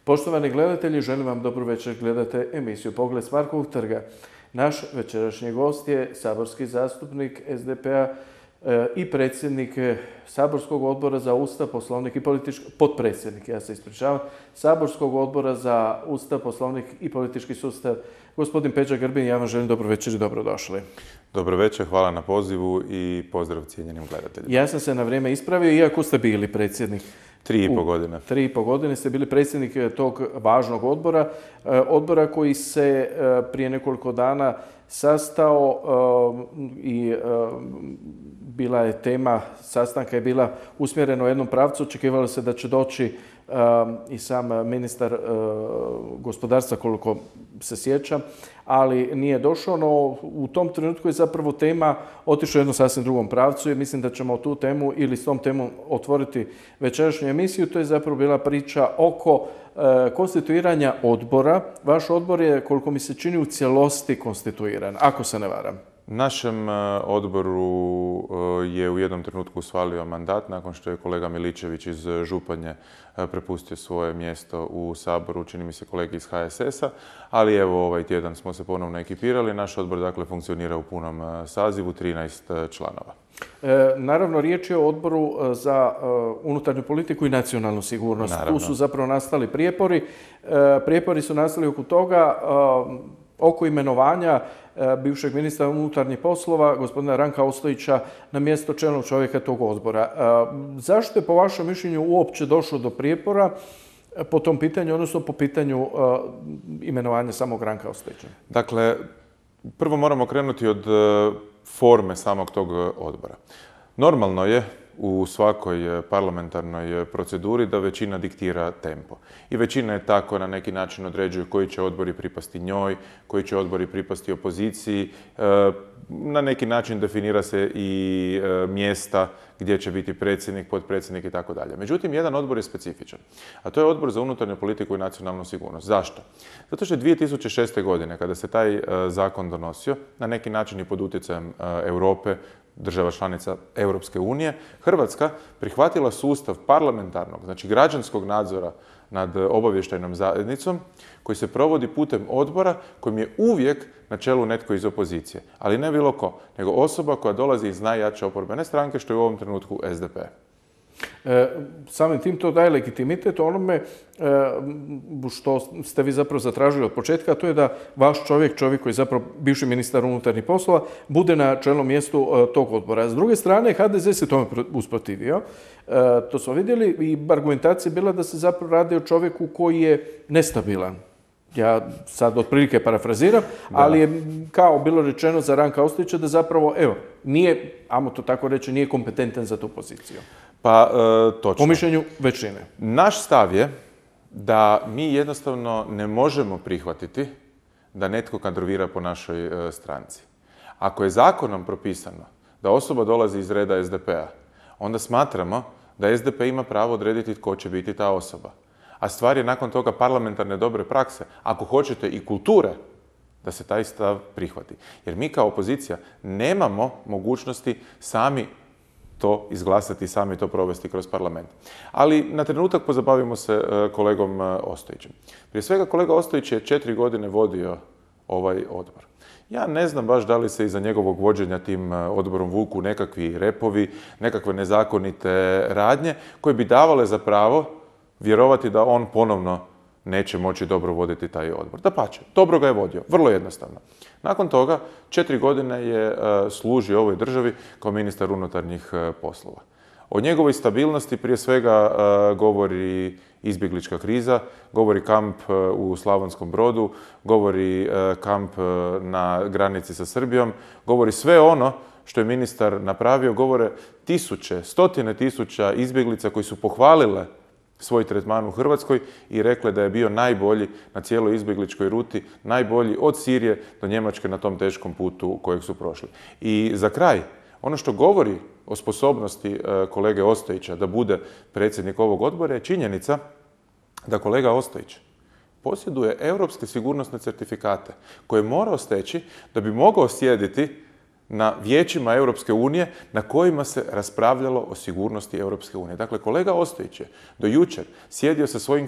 Poštovani gledatelji, želim vam dobro večer, gledate emisiju Pogled s Markovog trga. Naš večerašnji gost je saborski zastupnik SDP-a i predsjednik Saborskog odbora za Ustav, Poslovnik i potpredsjednik, ja se ispričavam, Saborskog odbora za Ustav, Poslovnik i politički sustav, gospodin Peđa Grbin. Ja vam želim dobro večer i dobrodošli. Dobro večer, hvala na pozivu i pozdrav cijenjenim gledateljima. Ja sam se na vrijeme ispravio, iako ste bili predsjednik. 3,5 godine. 3,5 godine ste bili predsjednik tog važnog odbora koji se prije nekoliko dana sastao i bila je tema sastanka je bila usmjerena u jednom pravcu. Očekivalo se da će doći i sam ministar gospodarstva, koliko se sjećam, ali nije došao, no u tom trenutku je zapravo tema otišla u jednom sasvim drugom pravcu i mislim da ćemo tu temu ili s tom temom otvoriti večerašnju emisiju. To je zapravo bila priča oko konstituiranja odbora. Vaš odbor je, koliko mi se čini, u cijelosti konstituiran, ako se ne varam. Našem odboru je u jednom trenutku usvalio mandat nakon što je kolega Miličević iz Županje prepustio svoje mjesto u Saboru, čini mi se kolegi iz HSS-a, ali evo ovaj tjedan smo se ponovno ekipirali. Naš odbor dakle funkcionira u punom sazivu, 13 članova. Naravno, riječ je o odboru za unutarnju politiku i nacionalnu sigurnost. Naravno. Tu su zapravo nastali prijepori. Prijepori su nastali oko toga, oko imenovanja bivšeg ministra unutarnjih poslova, gospodina Ranka Ostojića, na mjesto čelnog čovjeka tog odbora. Zašto je po vašem mišljenju uopće došlo do prijepora po tom pitanju, odnosno po pitanju imenovanja samog Ranka Ostojića? Dakle, prvo moramo krenuti od forme samog tog odbora. Normalno je u svakoj parlamentarnoj proceduri da većina diktira tempo. I većina je tako na neki način određuje koji će odbori pripasti njoj, koji će odbori pripasti opoziciji. Na neki način definira se i mjesta gdje će biti predsjednik, potpredsjednik i tako dalje. Međutim, jedan odbor je specifičan, a to je Odbor za unutarnju politiku i nacionalnu sigurnost. Zašto? Zato što je 2006. godine, kada se taj zakon donosio, na neki način i pod utjecajem Europe, država članica Europske unije, Hrvatska prihvatila sustav parlamentarnog, znači građanskog nadzora nad obavještajnom zajednicom koji se provodi putem odbora kojim je uvijek na čelu netko iz opozicije. Ali ne bilo ko, nego osoba koja dolazi iz najjače oporbene stranke, što je u ovom trenutku SDP. Samim tim to daje legitimitet onome što ste vi zapravo zatražili od početka, a to je da vaš čovjek koji je zapravo bivši ministar unutarnjih poslova, bude na čelnom mjestu tog odbora. S druge strane, HDZ se tome usprotivio. To smo vidjeli i argumentacija je bila da se zapravo radi o čovjeku koji je nestabilan. Ja sad otprilike parafraziram, ali je kao bilo rečeno za Ranka Ostojića da zapravo, nije, ajmo to tako reći, nije kompetentan za tu poziciju. Pa, točno. Po mišljenju većine. Naš stav je da mi jednostavno ne možemo prihvatiti da netko kadrovira po našoj stranci. Ako je zakonom propisano da osoba dolazi iz reda SDP-a, onda smatramo da SDP ima pravo odrediti tko će biti ta osoba. A stvar je nakon toga parlamentarne dobre prakse, ako hoćete i kulture, da se taj stav prihvati. Jer mi kao opozicija nemamo mogućnosti sami to izglasati, sami to provesti kroz parlament. Ali na trenutak pozabavimo se kolegom Ostojićem. Prije svega, kolega Ostojić je 4 godine vodio ovaj odbor. Ja ne znam baš da li se iza njegovog vođenja tim odborom vuku nekakvi repovi, nekakve nezakonite radnje koje bi davale za pravo vjerovati da on ponovno neće moći dobro voditi taj odbor. Dapače, dobro ga je vodio, vrlo jednostavno. Nakon toga, 4 godine je služio ovoj državi kao ministar unutarnjih poslova. O njegovoj stabilnosti prije svega govori izbjeglička kriza, govori kamp u Slavonskom Brodu, govori kamp na granici sa Srbijom, govori sve ono što je ministar napravio, govore stotine tisuća izbjeglica koji su pohvalile svoj tretman u Hrvatskoj i rekle da je bio najbolji na cijeloj izbjegličkoj ruti, najbolji od Sirije do Njemačke na tom teškom putu kojeg su prošli. I za kraj, ono što govori o sposobnosti kolege Ostojića da bude predsjednik ovog odbora je činjenica da kolega Ostojić posjeduje europske sigurnosne certifikate koje je morao steći da bi mogao sjediti na vijećima Europske unije na kojima se raspravljalo o sigurnosti Europske unije. Dakle, kolega Ostojić je do jučer sjedio sa svojim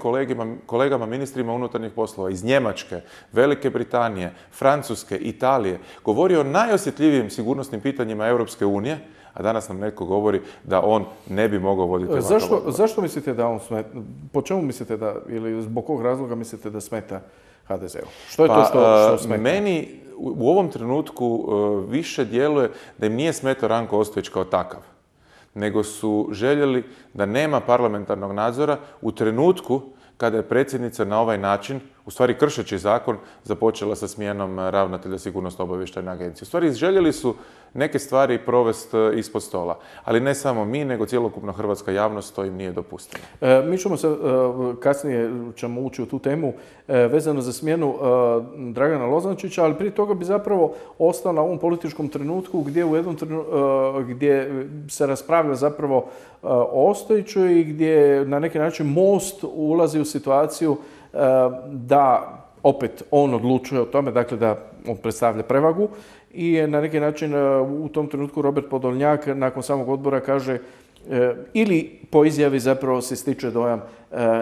kolegama ministrima unutarnjih poslova iz Njemačke, Velike Britanije, Francuske, Italije, govorio o najosjetljivijim sigurnosnim pitanjima Europske unije, a danas nam netko govori da on ne bi mogao voditi ovakav odbor. Zašto mislite da on smeta? Po čemu mislite da, ili zbog kog razloga mislite da smeta HDZ-u? Što je to što smeta? Meni u ovom trenutku više djeluje da im nije smetao Ranko Ostojić kao takav, nego su željeli da nema parlamentarnog nadzora u trenutku kada je predsjednica na ovaj način, u stvari kršeći zakon, započela sa smjenom ravnatelja Sigurnosno-obavještajne agencije. U stvari željeli su neke stvari provesti ispod stola, ali ne samo mi, nego cjelokupna hrvatska javnost to im nije dopustila. Mi ćemo se, kasnije ćemo ući u tu temu vezano za smjenu Dragana Lozančića, ali prije toga bi zapravo ostao na ovom političkom trenutku gdje se raspravlja zapravo o Ostojiću i gdje na neki način Most ulazi u situaciju da opet on odlučuje o tome, dakle da on predstavlja prevagu i na neki način u tom trenutku Robert Podolnjak nakon samog odbora kaže ili po izjavi zapravo se stiče dojam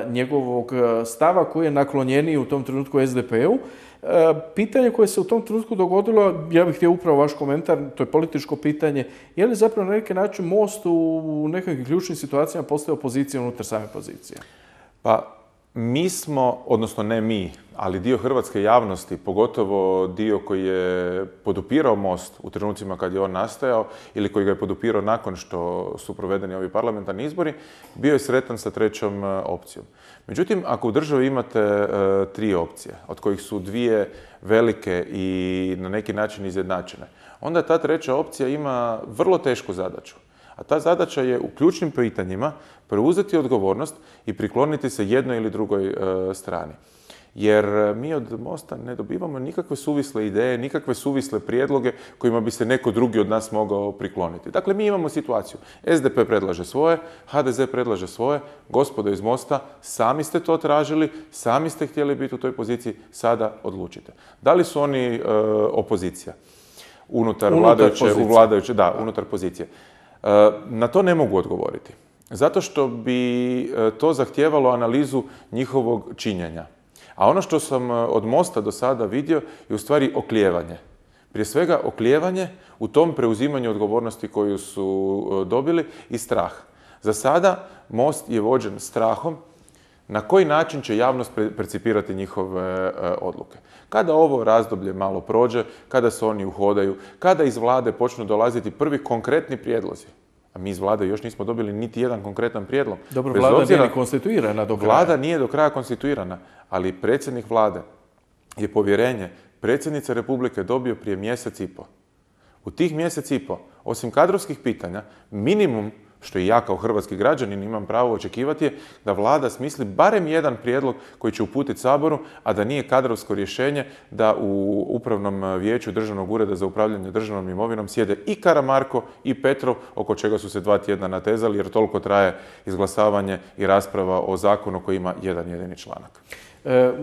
njegovog stava koji je naklonjeniji u tom trenutku SDP-u. Pitanje koje se u tom trenutku dogodilo, ja bih htio upravo vaš komentar, to je političko pitanje, je li zapravo na neki način Most u nekakvim ključnim situacijama postao opozicija unutar same pozicije? Pa mi smo, odnosno ne mi, ali dio hrvatske javnosti, pogotovo dio koji je podupirao Most u trenucima kad je on nastajao ili koji ga je podupirao nakon što su provedeni ovi parlamentarni izbori, bio je sretan sa trećom opcijom. Međutim, ako u državi imate tri opcije, od kojih su dvije velike i na neki način izjednačene, onda ta treća opcija ima vrlo tešku zadaću. A ta zadaća je u ključnim pitanjima preuzeti odgovornost i prikloniti se jednoj ili drugoj strani. Jer mi od Mosta ne dobivamo nikakve suvisle ideje, nikakve suvisle prijedloge kojima bi se neko drugi od nas mogao prikloniti. Dakle, mi imamo situaciju. SDP predlaže svoje, HDZ predlaže svoje, gospodo iz Mosta, sami ste to tražili, sami ste htjeli biti u toj poziciji, sada odlučite. Da li su oni opozicija? Unutar pozicije. Na to ne mogu odgovoriti. Zato što bi to zahtijevalo analizu njihovog činjenja. A ono što sam od Mosta do sada vidio je u stvari oklijevanje. Prije svega oklijevanje u tom preuzimanju odgovornosti koju su dobili i strah. Za sada Most je vođen strahom na koji način će javnost percipirati njihove odluke. Kada ovo razdoblje malo prođe, kada se oni uhodaju, kada iz vlade počnu dolaziti prvi konkretni prijedlozi, a mi iz vlade još nismo dobili niti jedan konkretan prijedlog. Dobro, vlada nije ni konstituirana do kraja. Vlada nije do kraja konstituirana, ali predsjednik vlade je povjerenje predsjednice Republike dobio prije mjesec i pol. U tih mjesec i pol, osim kadrovskih pitanja, minimum što i ja kao hrvatski građanin imam pravo očekivati je da vlada smisli barem jedan prijedlog koji će uputiti Saboru, a da nije kadrovsko rješenje da u Upravnom vijeću Državnog ureda za upravljanje državnom imovinom sjede i Karamarko i Petrov, oko čega su se 2 tjedna natezali jer toliko traje izglasavanje i rasprava o zakonu koji ima jedan jedini članak.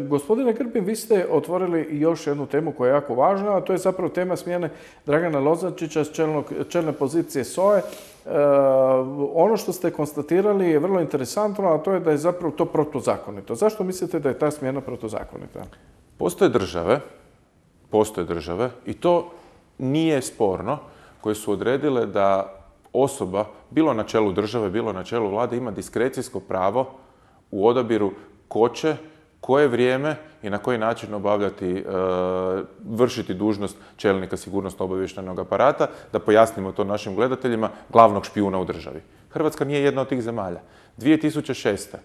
Gospodine Grbin, vi ste otvorili još jednu temu koja je jako važna, a to je zapravo tema smjene Dragana Lozančića s čelne pozicije SOA-e. Ono što ste konstatirali je vrlo interesantno, a to je da je zapravo to protuzakonito. Zašto mislite da je ta smjena protuzakonita? Postoje države i to nije sporno, koje su odredile da osoba, bilo na čelu države, bilo na čelu vlade, ima diskrecijsko pravo u odabiru ko će, koje vrijeme i na koji način vršiti dužnost čelnika sigurnosno-obavještajnog aparata, da pojasnimo to našim gledateljima, glavnog špijuna u državi. Hrvatska nije jedna od tih zemalja. 2006.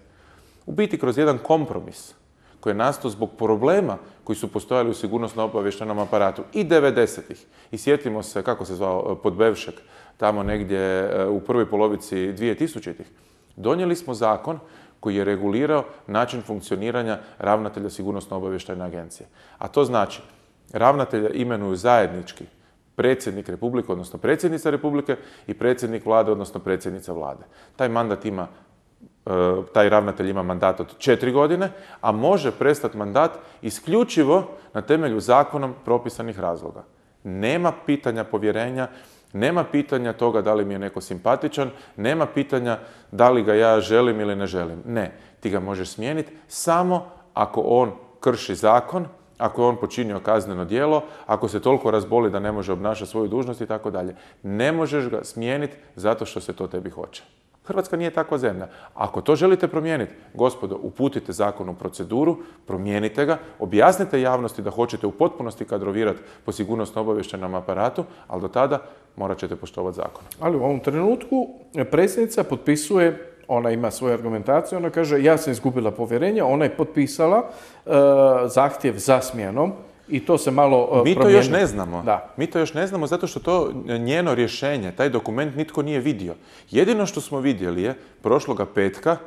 u biti kroz jedan kompromis koji je nastao zbog problema koji su postojali u sigurnosno-obavještajnom aparatu i 90-ih. I sjetimo se, kako se zvao, Podbevšek, tamo negdje u prvoj polovici 2000-ih. Donijeli smo zakon koji je regulirao način funkcioniranja ravnatelja sigurnosno-obavještajne agencije. A to znači, ravnatelja imenuju zajednički predsjednik Republike, odnosno predsjednica Republike i predsjednik vlade, odnosno predsjednica vlade. Taj ravnatelj ima mandat od 4 godine, a može prestati mandat isključivo na temelju zakonom propisanih razloga. Nema pitanja povjerenja, nema pitanja toga da li mi je neko simpatičan, nema pitanja da li ga ja želim ili ne želim. Ne, ti ga možeš smijeniti samo ako on krši zakon, ako je on počinio kazneno djelo, ako se toliko razboli da ne može obnašati svoju dužnost i tako dalje. Ne možeš ga smijeniti zato što se to tebi hoće. Hrvatska nije takva zemlja. Ako to želite promijeniti, gospodo, uputite zakon u proceduru, promijenite ga, objasnite javnosti da hoćete u potpunosti kadrovirati po sigurnosno-obavještajnom aparatu, ali do tada morat ćete poštovati zakon. Ali u ovom trenutku predsjednica potpisuje, ona ima svoju argumentaciju, ona kaže ja sam izgubila povjerenje, ona je potpisala zahtjev za smjenom i to se malo promijenilo. Mi to još ne znamo. Da. Mi to još ne znamo zato što to njeno rješenje, taj dokument nitko nije vidio. Jedino što smo vidjeli je prošloga petka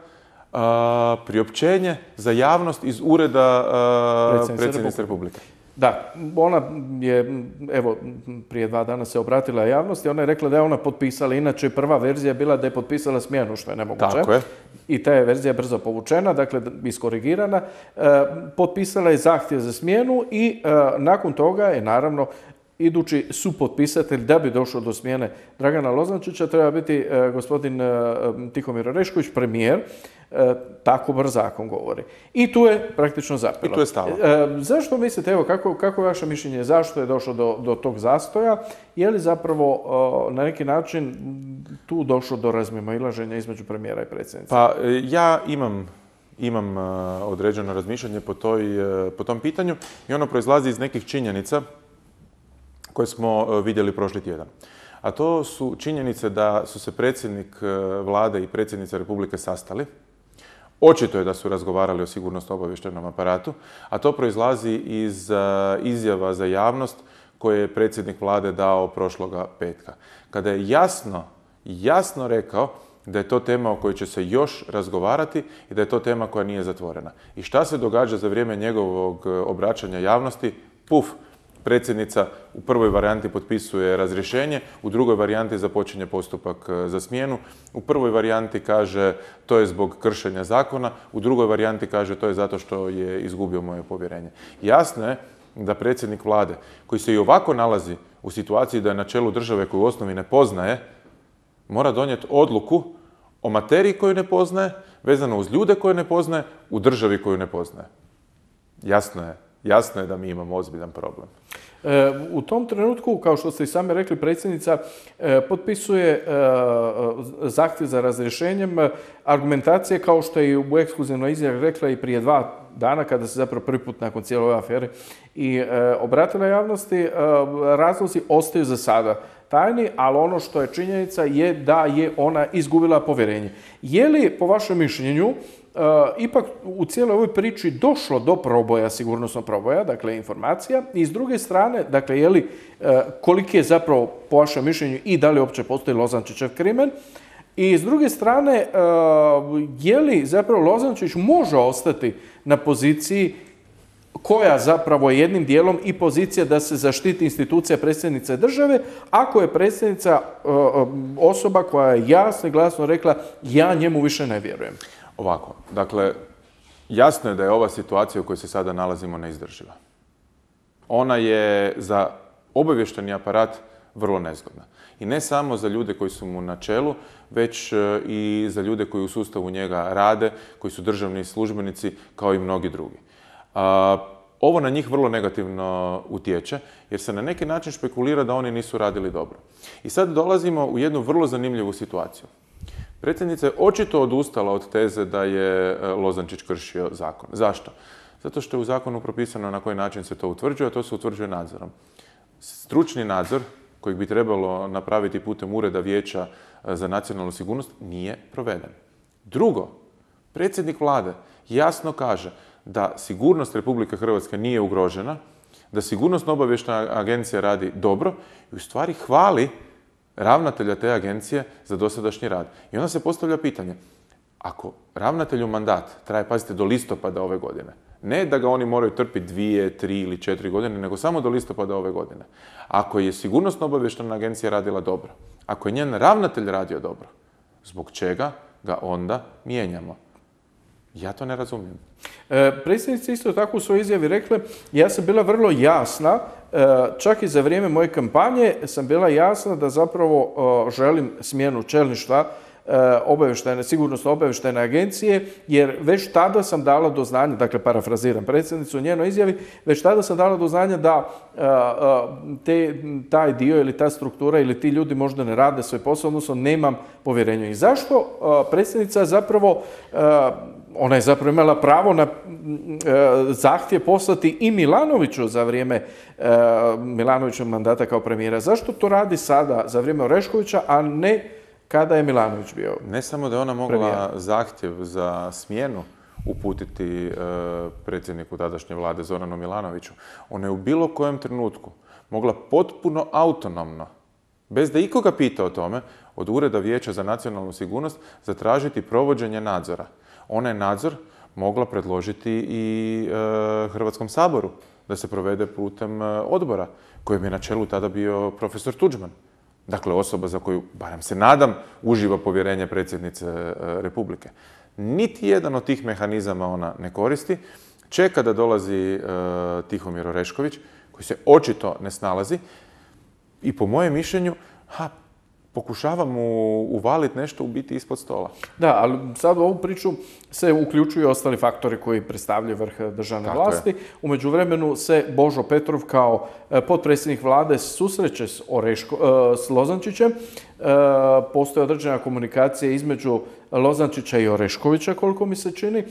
priopćenje za javnost iz ureda predsjednice Republike. Da, ona je, evo, prije 2 dana se obratila javnosti, ona je rekla da je ona potpisala, inače prva verzija je bila da je potpisala smjenu, što je nemoguće. Tako je. I ta je verzija brzo povučena, dakle, iskorigirana. Potpisala je zahtjev za smjenu i nakon toga je, naravno, idući supotpisatelj da bi došlo do smjene Dragana Lozančića treba biti gospodin Tihomir Orešković, premijer. Tako brz zakon govori. I tu je praktično zapelo. I tu je stalo. Zašto mislite, evo, kako je vaše mišljenje, zašto je došlo do tog zastoja? Je li zapravo na neki način tu došlo do razmimoilaženja između premijera i predsjednice? Pa ja imam određeno razmišljanje po tom pitanju i ono proizlazi iz nekih činjenica koje smo vidjeli prošli tjedan. A to su činjenice da su se predsjednik vlade i predsjednica Republike sastali. Očito je da su razgovarali o sigurnosno-obavještajnom aparatu, a to proizlazi iz izjava za javnost koje je predsjednik vlade dao prošloga petka. Kada je jasno rekao da je to tema o kojoj će se još razgovarati i da je to tema koja nije zatvorena. I šta se događa za vrijeme njegovog obraćanja javnosti? Puf! Predsjednica u prvoj varijanti potpisuje razrješenje, u drugoj varijanti započinje postupak za smjenu, u prvoj varijanti kaže to je zbog kršenja zakona, u drugoj varijanti kaže to je zato što je izgubio moje povjerenje. Jasno je da predsjednik vlade, koji se i ovako nalazi u situaciji da je na čelu države koju u osnovi ne poznaje, mora donijeti odluku o materiji koju ne poznaje, vezano uz ljude koje ne poznaje, u državi koju ne poznaje. Jasno je da mi imamo ozbiljan problem. U tom trenutku, kao što ste i sami rekli, predsjednica potpisuje zahtjev za razrješenjem argumentacije kao što je i u ekskluzivnoj izjavi rekla i prije 2 dana kada se zapravo prvi put nakon cijele ove afere i obratila javnosti, razlozi ostaju za sada tajni, ali ono što je činjenica je da je ona izgubila povjerenje. Je li, po vašem mišljenju, ipak u cijeloj ovoj priči došlo do proboja, sigurnosnog proboja, dakle informacija, i s druge strane, dakle, je li, koliki je zapravo, po vašem mišljenju, i da li uopće postoji Lozančićev krimen, i s druge strane, je li zapravo Lozančić može ostati na poziciji koja zapravo je jednim dijelom i pozicija da se zaštiti institucija predsjednice države, ako je predsjednica osoba koja je jasno i glasno rekla ja njemu više ne vjerujem. Ovako, dakle, jasno je da je ova situacija u kojoj se sada nalazimo neizdrživa. Ona je za obavještajni aparat vrlo nezgodna. I ne samo za ljude koji su mu na čelu, već i za ljude koji u sustavu njega rade, koji su državni službenici, kao i mnogi drugi. Ovo na njih vrlo negativno utječe, jer se na neki način špekulira da oni nisu radili dobro. I sad dolazimo u jednu vrlo zanimljivu situaciju. Predsjednica je očito odustala od teze da je Lozančić kršio zakon. Zašto? Zato što je u zakonu propisano na koji način se to utvrđuje, a to se utvrđuje nadzorom. Stručni nadzor, kojeg bi trebalo napraviti putem Ureda Vijeća za nacionalnu sigurnost, nije proveden. Drugo, predsjednik vlade jasno kaže da sigurnost Republike Hrvatske nije ugrožena, da sigurnosno-obavještajna agencija radi dobro i u stvari hvali ravnatelja te agencije za dosadašnji rad. I onda se postavlja pitanje, ako ravnatelju mandat traje, pazite, do listopada ove godine, ne da ga oni moraju trpiti 2, 3 ili 4 godine, nego samo do listopada ove godine. Ako je sigurnosno-obavještajna agencija radila dobro, ako je njen ravnatelj radio dobro, zbog čega ga onda mijenjamo? Ja to ne razumijem. Predsjednica isto tako u svojoj izjavi rekla, ja sam bila vrlo jasna, čak i za vrijeme moje kampanje sam bila jasna da zapravo želim smjenu čelništva sigurnosno obavještajne agencije, jer već tada sam dala do znanja, dakle parafraziram predsjednicu u njenoj izjavi, već tada sam dala do znanja da taj dio ili ta struktura ili ti ljudi možda ne rade svoj posao, odnosno nemam povjerenja. I zašto predsjednica zapravo, ona je zapravo imala pravo na zahtjev poslati i Milanoviću za vrijeme Milanovićevog mandata kao premijera. Zašto to radi sada za vrijeme Oreškovića, a ne kada je Milanović bio? Ne samo da je ona mogla zahtjev za smjenu uputiti predsjedniku tadašnje vlade Zoranu Milanoviću, ona je u bilo kojem trenutku mogla potpuno autonomno, bez da ikoga pita o tome, od Ureda Vijeća za nacionalnu sigurnost zatražiti provođenje nadzora. Ona je nadzor mogla predložiti i Hrvatskom saboru da se provede putem odbora, kojem je na čelu tada bio profesor Tuđman. Dakle, osoba za koju, barem se nadam, uživa povjerenje predsjednice Republike. Niti jedan od tih mehanizama ona ne koristi. Čeka da dolazi Tihomir Orešković, koji se očito ne snalazi i po mojem mišljenju pokušava mu uvaliti nešto u biti ispod stola. Da, ali sad u ovu priču se uključuju ostali faktori koji predstavljaju vrh državne vlasti. U međuvremenu se Božo Petrov kao potpredsjednik vlade susreće s Lozančićem. Postoji određena komunikacija između Lozančića i Oreškovića, koliko mi se čini.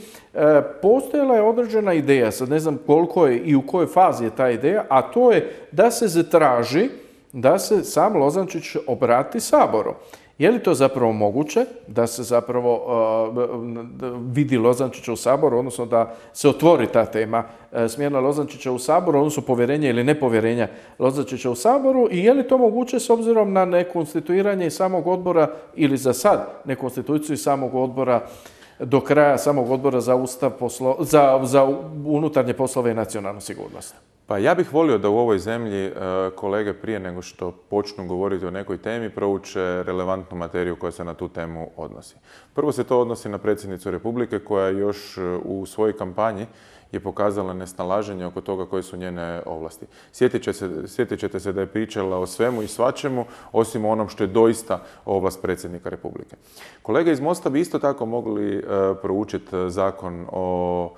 Postojala je određena ideja, sad ne znam koliko je i u kojoj fazi je ta ideja, a to je da se zatraži da se sam Lozančić obrati Saboru. Je li to zapravo moguće da se zapravo vidi Lozančića u Saboru, odnosno da se otvori ta tema smjena Lozančića u Saboru, odnosno povjerenja ili nepovjerenja Lozančića u Saboru, i je li to moguće s obzirom na nekonstituiranje samog odbora ili za sad nekonstituciju samog odbora do kraja samog odbora za unutarnje poslove i nacionalnu sigurnost? Pa ja bih volio da u ovoj zemlji kolege prije nego što počnu govoriti o nekoj temi prouče relevantnu materiju koja se na tu temu odnosi. Prvo se to odnosi na predsjednicu Republike koja još u svojoj kampanji je pokazala nesnalaženje oko toga koje su njene ovlasti. Sjetit ćete se da je pričala o svemu i svačemu, osim onom što je doista ovlast predsjednika Republike. Kolege iz Mosta bi isto tako mogli proučiti zakon o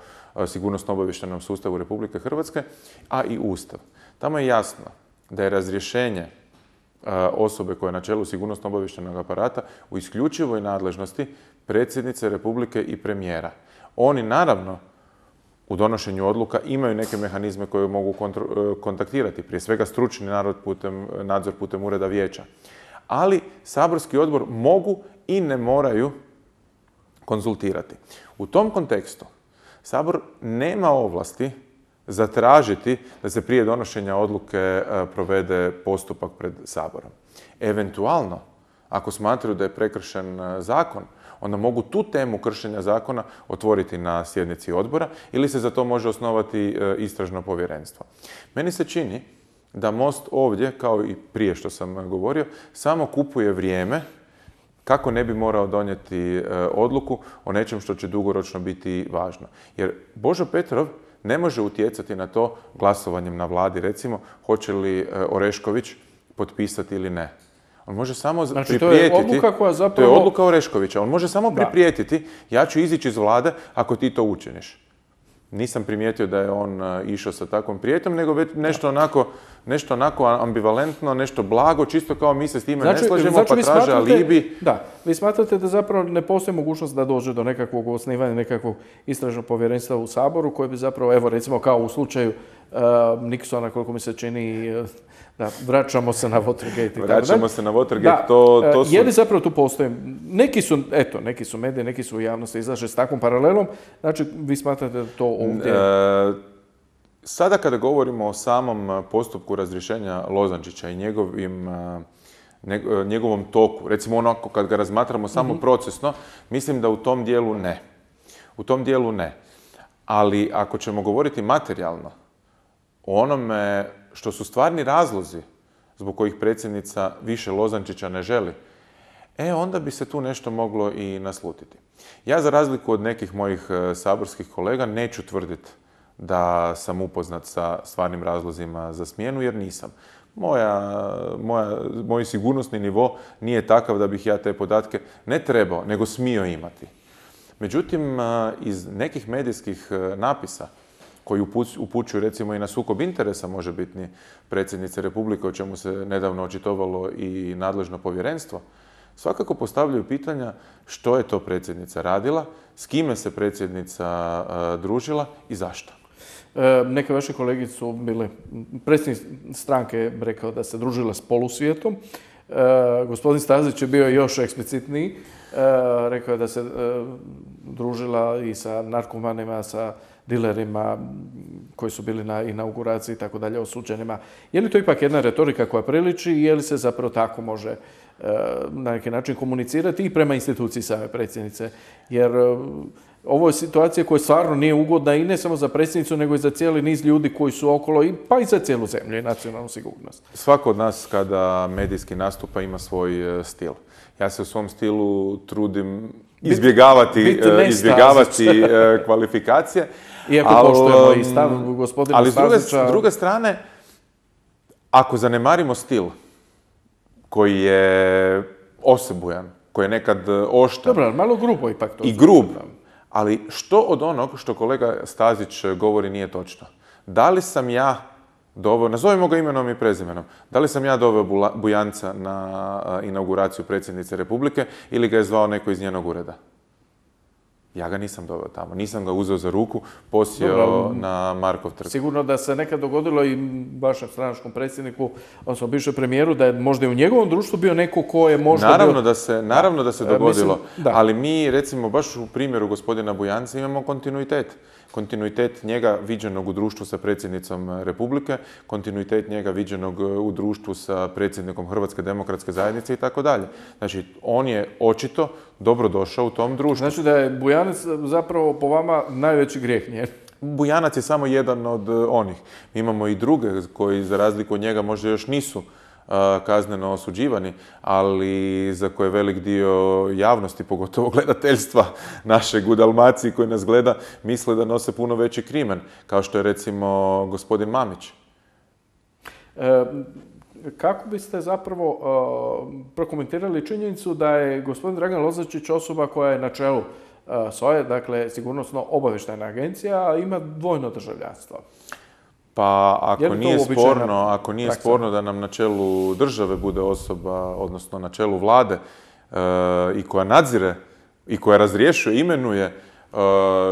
sigurnosno-obavještajnom sustavu Republike Hrvatske, a i Ustav. Tamo je jasno da je razrješenje osobe koja je na čelu sigurnosno-obavještajnog aparata u isključivoj nadležnosti predsjednice Republike i premijera. Oni naravno u donošenju odluka imaju neke mehanizme koje mogu kontaktirati, prije svega stručni nadzor putem Ureda Vijeća. Ali saborski odbor mogu i ne moraju konzultirati. U tom kontekstu Sabor nema ovlasti zatražiti da se prije donošenja odluke provede postupak pred Saborom. Eventualno, ako smatraju da je prekršen zakon, onda mogu tu temu kršenja zakona otvoriti na sjednici odbora ili se za to može osnovati istražno povjerenstvo. Meni se čini da Most ovdje, kao i prije što sam govorio, samo kupuje vrijeme kako ne bi morao donijeti odluku o nečem što će dugoročno biti važno. Jer Božo Petrov ne može utjecati na to glasovanjem na vladi, recimo, hoće li Orešković potpisati ili ne. On može samo priprijetiti... To je odluka koja zapravo... To je odluka Oreškovića. On može samo priprijetiti, ja ću izići iz vlade ako ti to učiniš. Nisam primijetio da je on išao sa takvom prijetnjom, nego već nešto onako ambivalentno, nešto blago, čisto kao mi se s time ne slažemo, pa traže alibi. Da, vi smatrate da zapravo ne postoji mogućnost da dođe do nekakvog osnivanja, nekakvog istražnog povjerenstva u Saboru, koje bi zapravo, evo recimo kao u slučaju Nixona, koliko mi se čini, da, vraćamo se na Watergate. Vraćamo se na Watergate, to su... Je li zapravo tu postoji? Neki su mediji, neki su u javnosti izlaže s takvom paralelom. Znači, vi smatrate da to ovdje... Sada kada govorimo o samom postupku razrješenja Lozančića i njegovom toku, recimo onako kad ga razmatramo samo procesno, mislim da u tom dijelu ne. U tom dijelu ne. Ali ako ćemo govoriti materijalno, o onome što su stvarni razlozi zbog kojih predsjednica više Lozančića ne želi, onda bi se tu nešto moglo i naslutiti. Ja, za razliku od nekih mojih saborskih kolega, neću tvrditi da sam upoznat sa stvarnim razlozima za smjenu, jer nisam. Moj sigurnosni nivo nije takav da bih ja te podatke ne trebao, nego smio imati. Međutim, iz nekih medijskih napisa koji upućuju recimo i na sukob interesa možebitni predsjednice Republike, o čemu se nedavno očitovalo i nadležno povjerenstvo, svakako postavljaju pitanja što je to predsjednica radila, s kime se predsjednica družila i zašto. Neke vaše kolege su bile, predsjednik stranke je rekao da se družila s polusvijetom. Gospodin Stazić je bio još eksplicitniji. Rekao je da se družila i sa narkomanima, sa dilerima koji su bili na inauguraciji i tako dalje, osuđenima. Je li to ipak jedna retorika koja priliči i je li se zapravo tako može na neki način komunicirati i prema instituciji same predsjednice? Jer ovo je situacija koja stvarno nije ugodna i ne samo za predsjednicu, nego i za cijeli niz ljudi koji su okolo, pa i za cijelu zemlju i nacionalnu sigurnost. Svako od nas kada medijski nastupa ima svoj stil. Ja se u svom stilu trudim izbjegavati kvalifikacije. Iako poštujemo i stav gospodina Stazića. Ali s druge strane, ako zanemarimo stil koji je osebujan, koji je nekad oštar. Dobro, malo grubo ipak to. I grub. Ali što od onog što kolega Stazić govori nije točno? Da li sam ja doveo, nazovimo ga imenom i prezimenom, da li sam ja doveo Bujanca na inauguraciju predsjednice Republike ili ga je zvao neko iz njenog ureda? Ja ga nisam doveo tamo, nisam ga uzeo za ruku, posjeo na Markov trg. Sigurno da se nekad dogodilo i vašem stranačkom predsjedniku, odnosno bivšem premijeru, da je možda i u njegovom društvu bio neko ko je možda Naravno da se dogodilo, ali mi recimo baš u primjeru gospodina Bujanca imamo kontinuitet. Kontinuitet njega viđenog u društvu sa predsjednicom Republike, kontinuitet njega viđenog u društvu sa predsjednikom Hrvatske demokratske zajednice i tako dalje. Znači, on je očito dobro došao u tom društvu. Znači da je Bujanac zapravo po vama najveći grijeh, nije? Bujanac je samo jedan od onih. Mi imamo i druge koji, za razliku od njega, možda još nisu kazneno osuđivani, ali za koje velik dio javnosti, pogotovo gledateljstva našeg u Dalmaciji koji nas gleda, misle da nose puno veći krimen, kao što je recimo gospodin Mamić. Kako biste zapravo prokomentirali činjenicu da je gospodin Dragan Lozačić osoba koja je na čelu SOA-e, dakle Sigurnosno-obavještajna agencija, a ima dvojno državljanstvo? Pa ako nije sporno da nam na čelu države bude osoba, odnosno na čelu vlade i koja nadzire i koja razrješuje, imenuje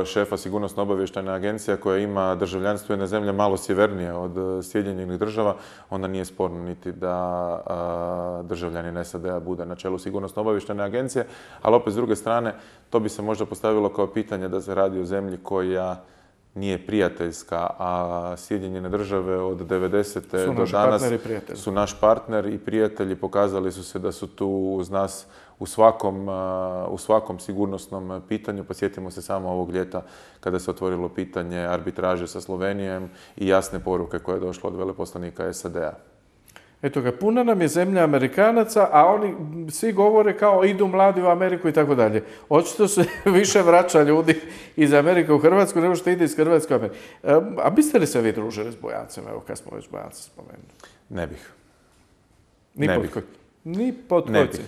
šefa Sigurnosno-obavještajne agencije koja ima državljanstvo jedne zemlje malo sjevernije od Sjedinjenih država, onda nije sporno niti da državljanin SAD-a bude na čelu Sigurnosno-obavještajne agencije, ali opet s druge strane to bi se možda postavilo kao pitanje da se radi o zemlji koja nije prijateljska, a Sjedinjene države od 90. do danas su naš partner i prijatelji. Pokazali su se da su tu uz nas u svakom sigurnosnom pitanju. Posjetimo se samo ovog ljeta kada se otvorilo pitanje arbitraže sa Slovenijom i jasne poruke koje je došlo od veleposlanika SAD-a. Eto ga, puna nam je zemlja Amerikanaca, a oni svi govore kao idu mladi u Ameriku i tako dalje. Očito se više vraća ljudi iz Amerike u Hrvatsku nego što ide iz Hrvatske u Ameriku. A biste li se vi družili s Bujancem, evo kad smo već Bujanca spomenuli? Ne bih. Ni pod kojci?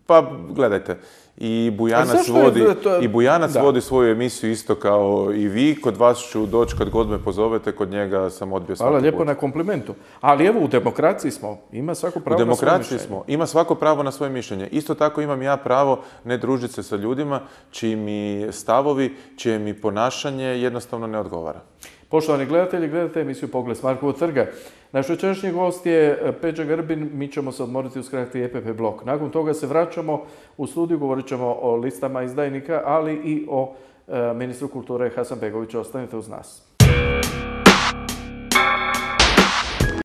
Pa gledajte, i Bujanac vodi svoju emisiju isto kao i vi. Kod vas ću doći kad god me pozovete, kod njega sam odbio svaki put. Hvala lijepo na komplimentu. Ali evo, u demokraciji smo. Ima svako pravo na svoje mišljenje. Ima svako pravo na svoje mišljenje. Isto tako imam ja pravo ne družiti se sa ljudima čiji mi stavovi, čije mi ponašanje jednostavno ne odgovara. Poštovani gledatelji, gledate emisiju Pogled s Markovog trga. Naš večerašnji gost je Peđa Grbin, mi ćemo se odmoriti uz kratki EPP blok. Nakon toga se vraćamo u studiju, govorit ćemo o listama izdajnika, ali i o ministru kulture Hasanbegoviću. Ostanite uz nas.